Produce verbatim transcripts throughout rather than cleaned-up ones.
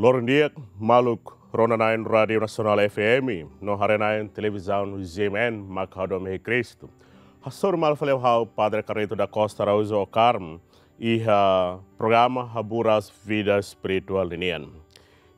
Loron di'ak, maluk rona-na'in Rádiu Nasionál F M no haree-na'in televizaun G M N mak hadomi iha Kristu. Hasoru malu fali ho ha'u Padre Carlito da Costa Araújo Ocarmo, iha programa Haburas Vida Espirituál ninian.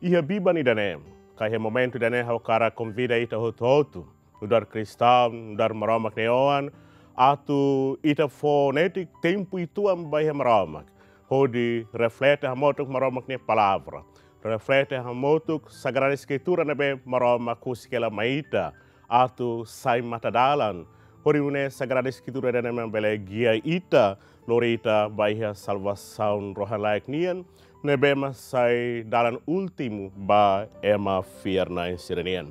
Iha biban ida-ne'e, ka iha momentu ida-ne'e ha'u hakarak konvida ita hotu-hotu, nu'udar kristaun, nu'udar Maromak nia oan, atu ita fó netik tempu uitoan ba iha Maromak, hodi reflete hamutuk Maromak nia palavra, reflete hamutuk Sagrada Eskritura ne'ebé Maromak husik hela mai ita, atu sai matadalan, hodi nune'e Sagrada Eskritura ida-ne'e mak bele gia ita, lori ita ba iha salvasaun rohan-laek nian, ne'ebé mak sai dalan últimu ba ema fiar-na'in sira-nian.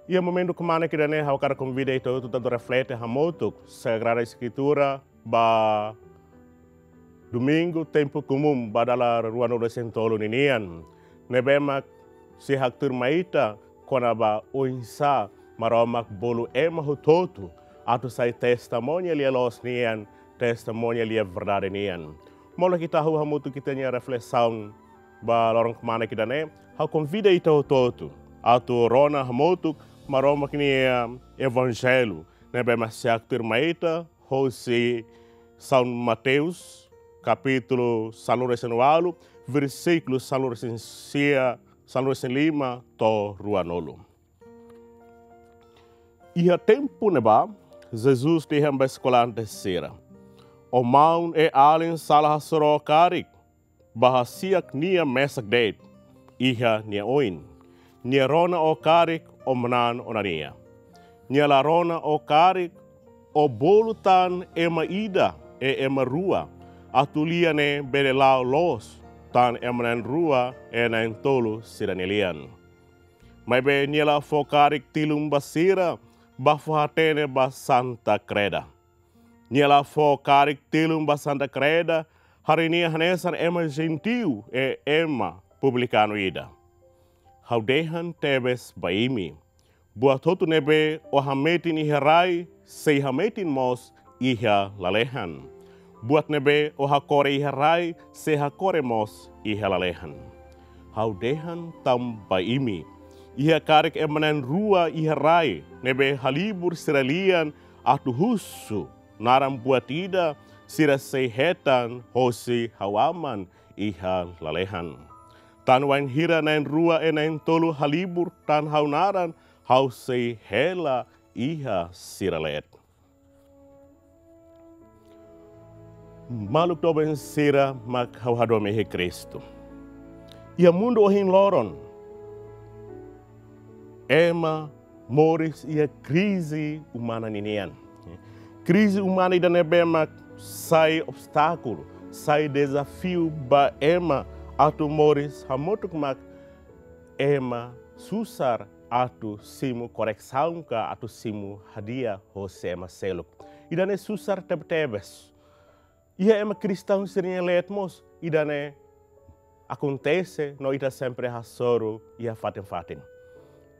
Iha momentu kmanek ida-ne'e ha'u hakarak konvida ita hotu atu reflete hamutuk Sagrada Eskritura ba Domingu Tempu Komún ba dala ruanulu-resin-tolu ninian, ne'ebé mak sei haktuir mai ita kona-ba oinsá Maromak bolu ema hotu-hotu atu sai testemuña lia-loos nian, testemuña lia-verdade nian. Molok ita hahú hamutuk ita-nia reflesaun ba loron kmanek ida-ne'e, ha'u konvida ita hotu-hotu atu rona hamutuk Maromak nia Evanjellu ne'ebé mak sei haktuir mai ita hosi São Mateus, kapítulu sanulu-resin-ualu, versíkulu sanulu-resin-sia, sanulu-resin-lima to'o ruanulu. Iha tempu ne'ebá, Jesus dehan ba eskolante sira: Ó maun e alin sala hasoru ó karik, bá hasi'ak nia mesak de'it iha nia oin. Nia rona ó karik, ó manán ona nia. Nia la rona ó karik, ó bolu tan ema ida e ema rua, atu lia ne'e bele la'o loos tan ema na'in-rua e na'in-tolu sira-nia lian. Maibé nia la fó karik tilun ba sira, bá fó hatene ba Santa Kreda. Nia la fó karik tilun ba Santa Kreda, harii nia hanesan ema jentiu e ema publikanu ida. Ha'u dehan tebes ba imi, buat hotu ne'ebé ó hametin iha rai, sei hametin mós iha lalehan. Buat ne'ebé ó hakore iha rai, sei hakore mós iha lalehan. Ha'u dehan tan ba imi, iha karik ema na'in-rua iha rai ne'ebé halibur sira lian atu husu naran buat ida, sira sei hetan hosi ha'u Aman iha lalehan. Tan wainhira na'in-rua e na'in-tolu halibur tan ha'u naran, ha'u sei hela iha sira leet. Maluk doben sira mak ha'u hadomi iha Kristu. Iha mundu ohin loron, ema moris iha krize umana ninian. Krize umana ida ne'ebé mak sai obstákulu, sai dezafiu ba ema atu moris hamutuk mak ema susar atu simu koresaun ka atu simu hadi'a hosi ema seluk. Ida-ne'e susar tebetebes. Iha ema kristaun sira-nia leet mós ida-ne'e akontese no ita sempre hasoru iha fatin-fatin.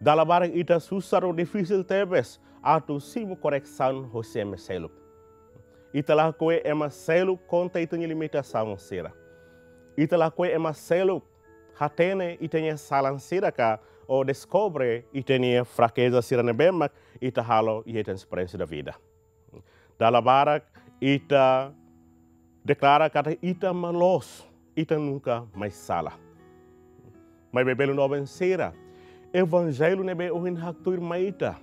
Dala barak ita susar no difisil tebes atu simu koresaun hosi ema seluk. Ita lakohi ema seluk konta ita-nia limitasaun sira. Ita lakohi ema seluk hatene ita-nia salan sira ka, ou deskobre ita-nia frakeza sira ne'ebé mak ita halo iha ita-nia esperiénsia da vida. Dala barak ita deklara katak ita mak loos, ita nunka mai sala. Maibé belun doben sira, Evanjellu ne'ebé ohin haktuir mai ita,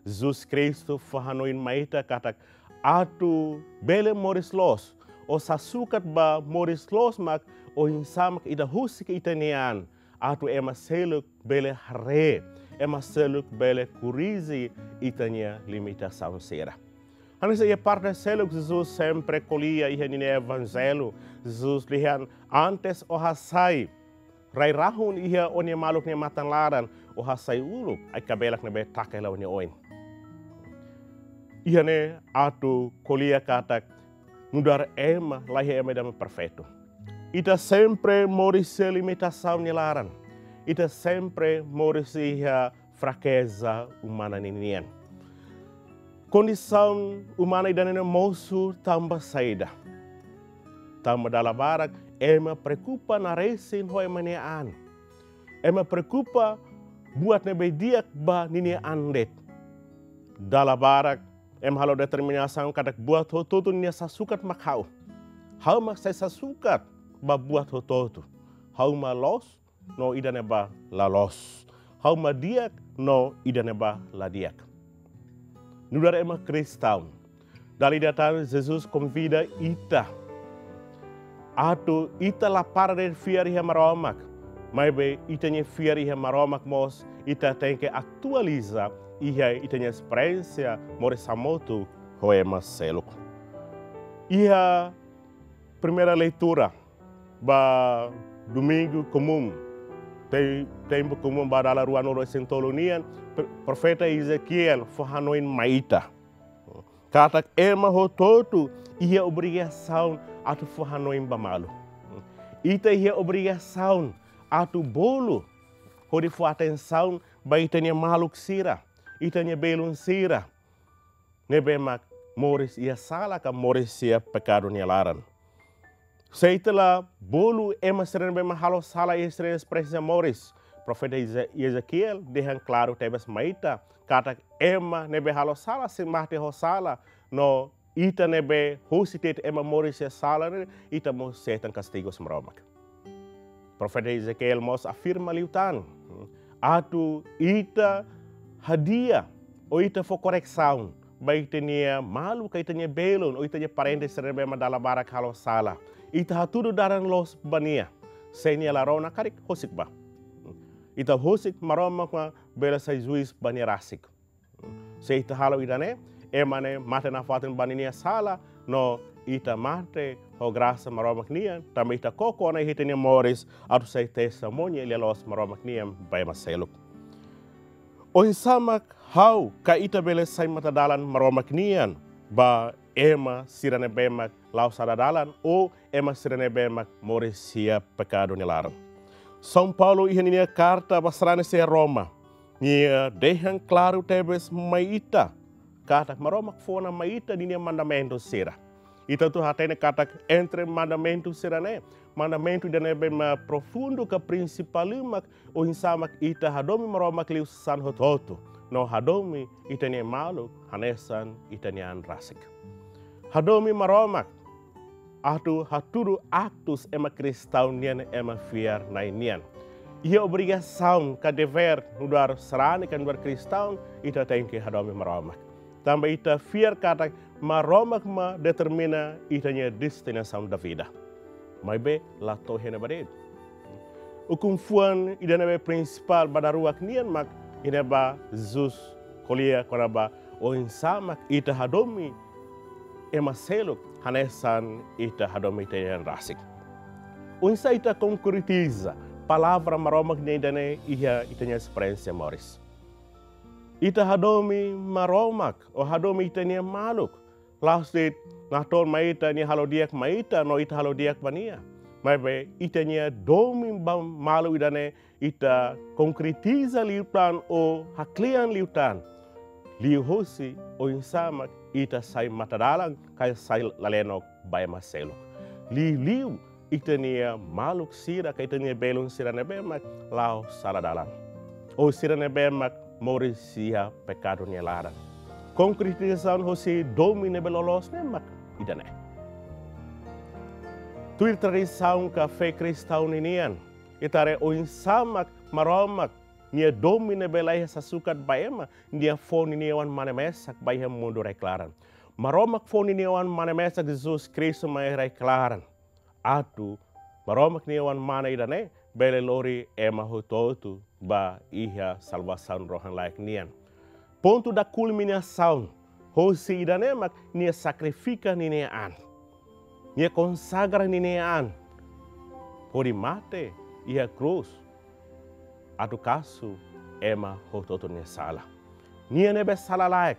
Jesus Kristu fó hanoin mai ita katak atu bele moris loos, ou sasukat ba moris loos mak oinsá mak ita husik ita-nia an, atu ema seluk bele haree, ema seluk bele korrije ita-nia limitasaun sira. Hanesan iha parte seluk Jesus sempre ko'alia iha ninia Evanjellu, Jesus dehan antes ó hasai rai-rahun iha ó-nia maluk nia matan laran, ó hasai uluk ai-kabelak ne'ebé taka hela ó-nia oin. Iha ne'e atu ko'alia katak nu'udar ema, laiha ema ida mak perfeitu. Ita sempre moris iha limitasaun nia laran. Ita sempre moris iha frakeza umana ninian. Kondisaun umana ida-ne'e mosu tanba saida? Tanba dala barak ema preokupa naresin ho ema nia an. Ema preokupa buat ne'ebé di'ak ba ninia an de'it. Dala barak ema halo determinasaun katak buat hotu-hotu ninia sasukat mak ha'u. Ha'u mak sai sasukat ba buat hotu-hotu. Ha'u mak loos no ida-ne'ebá la loos. Ha'u mak di'ak no ida-ne'ebá la di'ak. Nu'udar ema kristaun, dala ida tan Jesus konvida ita atu ita la para de'it fiar iha Maromak, maibé ita-nia fiar iha Maromak mós ita tenke atualiza iha ita-nia esperiénsia moris hamutuk ho ema seluk. Iha primeira leitura ba Domingu Komún, te-, tempu komún ba dala ruanulu-resin-tolu nian, pro-, profeta Ezequiel fó hanoin mai ita katak ema hotu-hotu iha obrigasaun atu fó hanoin ba malu. Ita iha obrigasaun atu bolu hodi fó atensaun ba ita-nia maluk sira, ita-nia belun sira ne'ebé mak moris iha sala ka moris iha pekadu nia laran. Se ita la bolu ema sira ne'ebé mak halo sala iha sira-nia esperiénsia moris, profeta Eze-, Ezequiel dehan klaru tebes mai ita katak ema ne'ebé halo sala sei mate ho sala, no ita ne'ebé husik de'it ema moris iha sala ne'e, ita mós hetan kastigu husi Maromak. Profeta Ezequiel mós afirma liután atu ita hadi'a ou ita fó koresaun ba ita-nia maluk ka ita-nia belun ou ita-nia parente sira ne'ebé mak dala barak halo sala. Ita hatudu dalan loos ba nia. Se nia la rona karik, husik bá. Ita husik, Maromak mak bele sai juís ba nia rasik. Se ita halo ida-ne'e, ema ne'e mate nafatin ba ninia sala, no ita mate ho grasa Maromak nian, tanba ita koko ona iha ita-nia moris atu sai testemuña lia-loos Maromak nian ba ema seluk. Oinsá mak ha'u ka ita bele sai matadalan Maromak nian ba ema sira ne'ebé mak la'o sala dalan ou ema sira ne'ebé mak moris iha pekadu nia laran? São Paulo iha ninia karta ba sarani sira Roma, nia dehan klaru tebes mai ita katak Maromak fó ona mai ita ninia mandamentu sira. Ita hotu hatene katak entre mandamentu sira-ne'e, mandamentu ida ne'ebé mak profundu ka prinsipál mak oinsá mak ita hadomi Maromak liu sasán hotu-hotu, no hadomi ita-nia maluk hanesan ita-nia an rasik. Hadomi Maromak atu hatudu aktus ema kristaun nian, ema fiar-na'in nian. Iha obrigasaun ka devér nu'udar sarani ka nu'udar kristaun, ita tenke hadomi Maromak. Tanba ita fiar katak Maromak mak determina ita-nia destinasaun da vida. Maibé la to'o iha ne'ebá de'it. Ukun-fuan ida ne'ebé prinsipál ba daruak nian mak ida ne'ebé Jesus ko'alia kona-ba oinsá mak ita hadomi ema seluk hanesan ita hadomi ita-nia an rasik. Oinsá ita konkretiza palavra Maromak nian ida-ne'e iha ita-nia esperiénsia moris? Ita hadomi Maromak ou hadomi ita-nia maluk la'ós de'it natoon mai ita, nia halo di'ak mai ita no ita halo di'ak ba nia. Maibé ita-nia domin ba malu ida-ne'e ita konkretiza liután ou haklean liután liuhosi oinsá mak ita sai matadalan ka sai lalenok ba ema seluk. Liuliu ita-nia maluk sira ka ita-nia belun sira ne'ebé mak la'o sala dalan, ou sira ne'ebé mak moris iha pekadu nia laran. Konkretizasaun hosi domin ne'ebé loloos ne'e mak ida-ne'e. Tuir tradisaun ka fé kristaun ninian, ita haree oinsá mak Maromak nia domin ne'ebé la iha sasukat ba ema, nia fó ninia Oan-Mane mesak ba iha mundu rai-klaran. Maromak fó ninia Oan-Mane mesak, Jesus Kristu mai rai-klaran, atu Maromak nia Oan-Mane ida-ne'e bele lori ema hotu-hotu ba iha salvasaun rohan-laek nian. Pontu da kulminasaun hosi ida-ne'e mak nia sakrifika ninia an. Nia konsagra ninia an hodi mate iha krús atu kasu ema hotu-hotu nia sala. Nia ne'ebé sala-laek,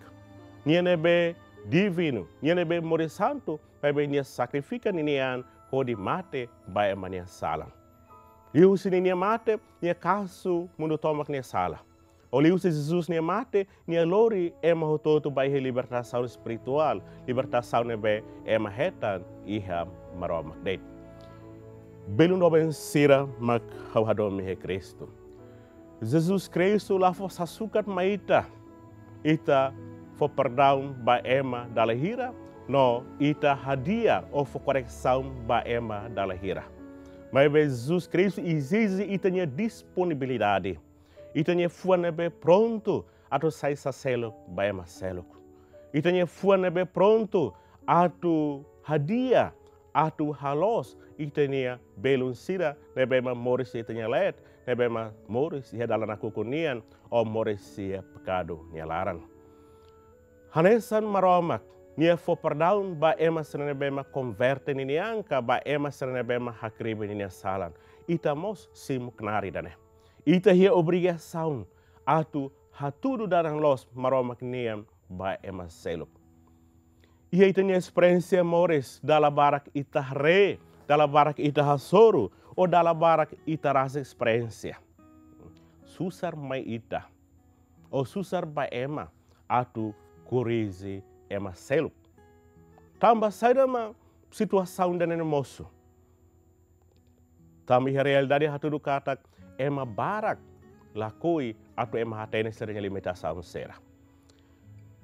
nia ne'ebé divinu, nia ne'ebé moris santu, maibé nia sakrifika ninia an hodi mate ba ema nia sala. Liuhusi ninia mate, nia kasu mundu tomak nia sala. Ou liuhusi Jesus nia mate, nia lori ema hotu-hotu ba iha libertasaun espirituál, libertasaun ne'ebé ema hetan iha Maromak de'it. Belun doben sira mak ha'u hadomi iha Kristu, Jesus Kristu la fó sasukat mai ita, ita fó perdaun ba ema dala hira, no ita hadi'a ou fó koresaun ba ema dala hira. Maibé Jesus Kristu ezije ita-nia disponibilidade, ita-nia fuan ne'ebé prontu atu sai saseluk ba ema seluk. Ita-nia fuan ne'ebé prontu atu hadi'a, atu haloos ita-nia belun sira ne'ebé mak moris iha ita-nia leet, ne'ebé mak moris iha dalan nakukun nian, ou moris iha pekadu nia laran. Hanesan Maromak, Nia fó perdaun ba ema sira ne'ebé mak konverte ninia an, ka ba ema sira ne'ebé mak hakribi ninia salan. Ita mós simu knaar ida-ne'e. Ita iha obrigasaun atu hatudu dalan loos Maromak nian ba ema seluk. Iha ita-nia esperiénsia moris, dala barak ita haree, dala barak ita hasoru, ou dala barak ita rasik esperiénsia. Susar mai ita, ou susar ba ema atu korrije ema seluk. Tanba saida mak situasaun ida-ne'e mosu? Tanba iha realidade hatudu katak ema barak lakohi atu ema hatene sira-nia limitasaun sira.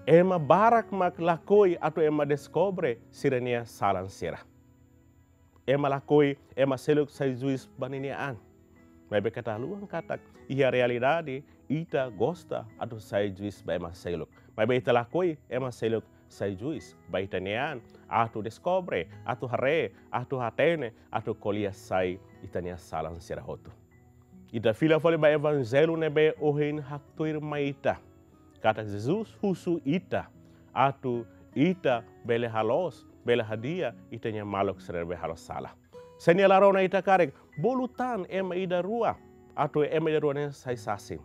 Ema barak mak lakohi atu ema deskobre sira-nia salan sira. Ema lakohi ema seluk sai juís ba ninia an. Maibé keta haluha katak iha realidade ita gosta atu sai juís ba ema seluk. Maibé ita lakohi ema seluk sai juís ba ita-nia an, atu deskobre, atu haree, atu hatene, atu ko'alia sai ita-nia salan sira hotu. Ita fila fali ba Evanjellu ne'ebé ohin haktuir mai ita katak Jesus husu ita atu ita bele haloos, bele hadi'a ita-nia maluk sira ne'ebé halo sala. Se nia la rona ita karik, bolu tan ema ida rua, atu ema ida rua ne'e sai sasin.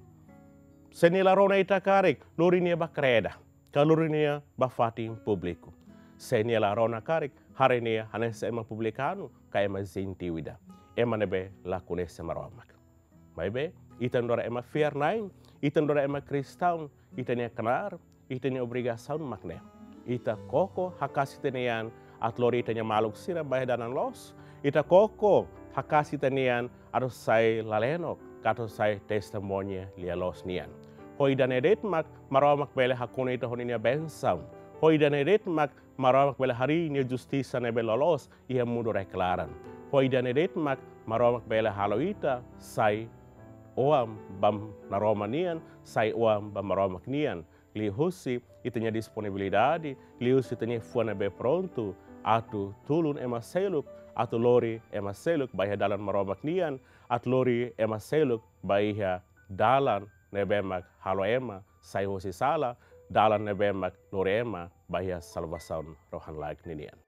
Se nia la rona ita karik, lori nia ba kreda, ka lori nia ba fatin públiku. Se nia la rona karik, haree nia hanesan ema publikanu, ka ema jentiu ida, ema ne'ebé la koñese Maromak. Maibé, ita nu'udar ema fiar-na'in, ita nu'udar ema kristaun, ita-nia knaar, ita-nia obrigasaun mak ne'e. Ita koko haka'as ita-nia an atu lori ita-nia maluk sira ba iha dalan loos. Ita koko haka'as ita-nia an atu sai lalenok, ka atu sai testemuña lia-loos nian. Ho ida-ne'e de'it mak Maromak bele hakonu ita ho ninia bensaun. Ho ida-ne'e de'it mak Maromak bele harii nia justisa ne'ebé loloos iha mundu rai-klaran. Ho ida-ne'e de'it mak Maromak bele halo ita sai oan ba naroman nian, sai oan ba Maromak nian. Liuhusi ita-nia disponibilidade, liuhusi ita-nia fuan ne'ebé prontu atu tulun ema seluk, atu lori ema seluk ba iha dalan Maromak nian, atu lori ema seluk ba iha dalan ne'ebé mak halo ema sai husi sala, dalan ne'ebé mak lori ema ba iha salvasaun rohan-laek ninian.